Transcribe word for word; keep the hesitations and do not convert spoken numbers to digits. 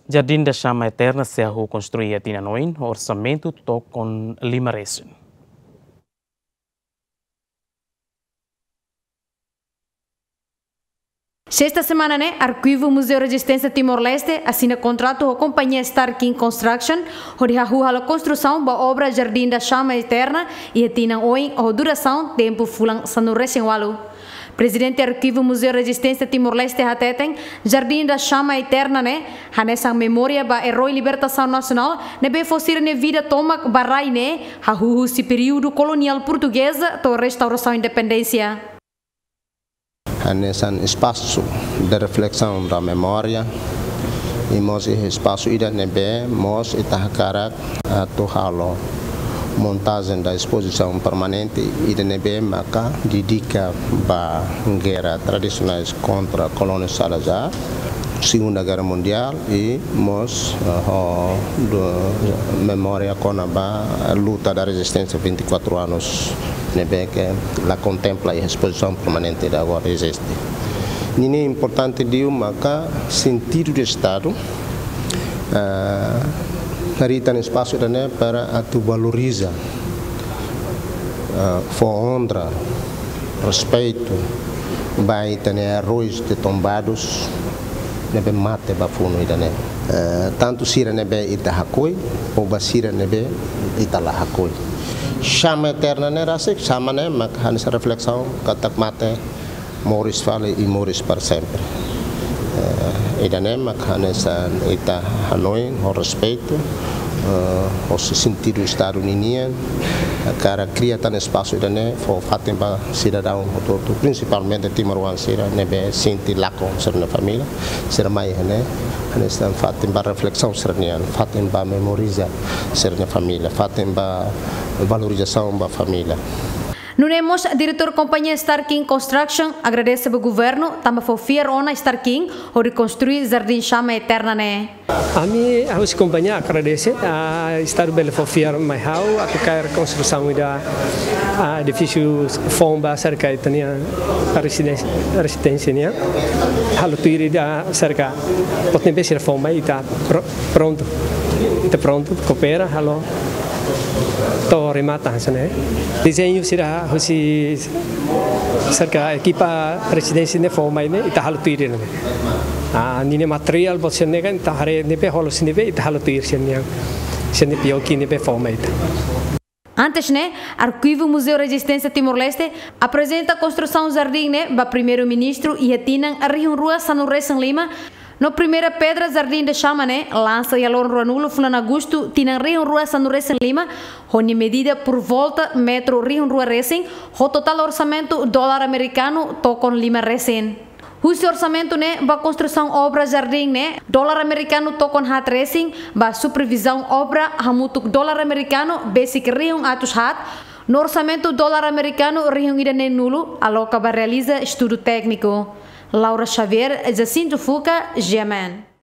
Jardim da Chama Eterna sei hahú konstrui iha tinan oin, orsamentu tokon lima resin. Sesta semana ne'e, Arkivu Muzeu Rezisténsia Timor-Leste asina kontratu ho kompañia Star King Construction, hodi hahú halo konstrusaun ba obra Jardim da Chama Eterna iha tinan oin ho durasaun tempu fulan sanulu resin ualu. Prezidente Arkivu Muzeu Rezisténsia Timor-Leste hateten, Jardim da Chama Eterna ne'e hanesan memória ba eroi libertasaun nasionál ne'ebé fó sira-nia vida tomak ba rai ne'e, hahú husi períodu koloniál portugeza to'o restaurasaun independénsia. Hanesan espasu de refleksaun da memória, i mós iha espasu ida ne'ebé mós ita hakarak atu halo montajen da espozisaun permanente ida ne'ebé maka dedika ba gerra tradisionais kontra kolónia Salazar, Segunda Gerra Mundiál, i mós, eh, ho do, memória kona-ba luta da rezisténsia vinte e quatro anos ne'ebé ke la kontempla iha espozisaun permanente ida agora eziste. Ninia importante liu maka sentidu de Estadu, eh, harii tan espasu ida-ne'e para atu valoriza, eh, fó onra, respeitu ba ita-nia erois de tombadus ne'ebé mate ba funu ida-ne'e. Eh, tantu sira ne'ebé ita hakoi, ou ba sira ne'ebé ita la hakoi. Chama eterna ne'e rasik, chama ne'e mak hanesan refleksaun katak mate, moris fali i moris para sempre. Eh, ida-ne'e mak hanesan ita hanoin ho respeitu, eh, ho sentidu Estadu ninian, hakarak kria tan espasu ida-ne'e fó fatin ba sidadaun hotu-hotu, prinsipalmente timoroan sira ne'ebé sente lakon sira-nia família, sira mai iha ne'e, hanesan fatin ba refleksaun sira-nian, fatin ba memoriza sira-nia família, fatin ba valorizasaun ba família. Nune'e mós, diretór kompañia Star King Construction agradese ba governu tanba fó fiar ona Star King hodi konstrui Jardim Chama Eterna ne'e. Ami, ha'u husi kompañia agradese, ah, Estadu bele fó fiar mai ha'u atu kaer konstrusaun ida, ah, edifísiu foun ba serka ita-nia rezidénsia, rezidénsia nian. Halo tuir ida serka, buat ne'ebé sira fó mai ita pro-, prontu. Ita prontu, koopera, halo to'o remata hanesan ne'e. Dezeñu sira husi serka ekipa rezidénsia ne'e fó mai ne'e, ita halo tuir ne'e. Ah, ninia materiál buat sira-ne'e kan, ita haree ne'ebé hola sira ne'ebé, ita halo tuir sira-nian. Sira-nia P O Q ne'ebé fó mai ita. Antes ne'e, Arkivu Muzeu Rezisténsia Timor-Leste aprezenta konstrusaun jardín ne'e ba Primeiru-Ministru iha tinan rihun rua sanulu resin lima, no primeira pedra Jardim da Chama ne'e lansa iha loron ruanulu fulan Agostu tinan rihun rua sanulu resin lima, ho nia medida por volta metru rihun rua resin, ho totál orsamentu dolar amerikanu tokon lima resin. Husi orsamentu ne'e ba konstrusaun obra jardín ne'e, dolar amerikanu tokon haat resin, ba supervizaun obra hamutuk dolar amerikanu besik rihun atus haat, no orsamentu dolar amerikanu rihun ida neenulu aloka ba realiza estudu tékniku. Laura Xavier, Jacinto Fuca, G M N.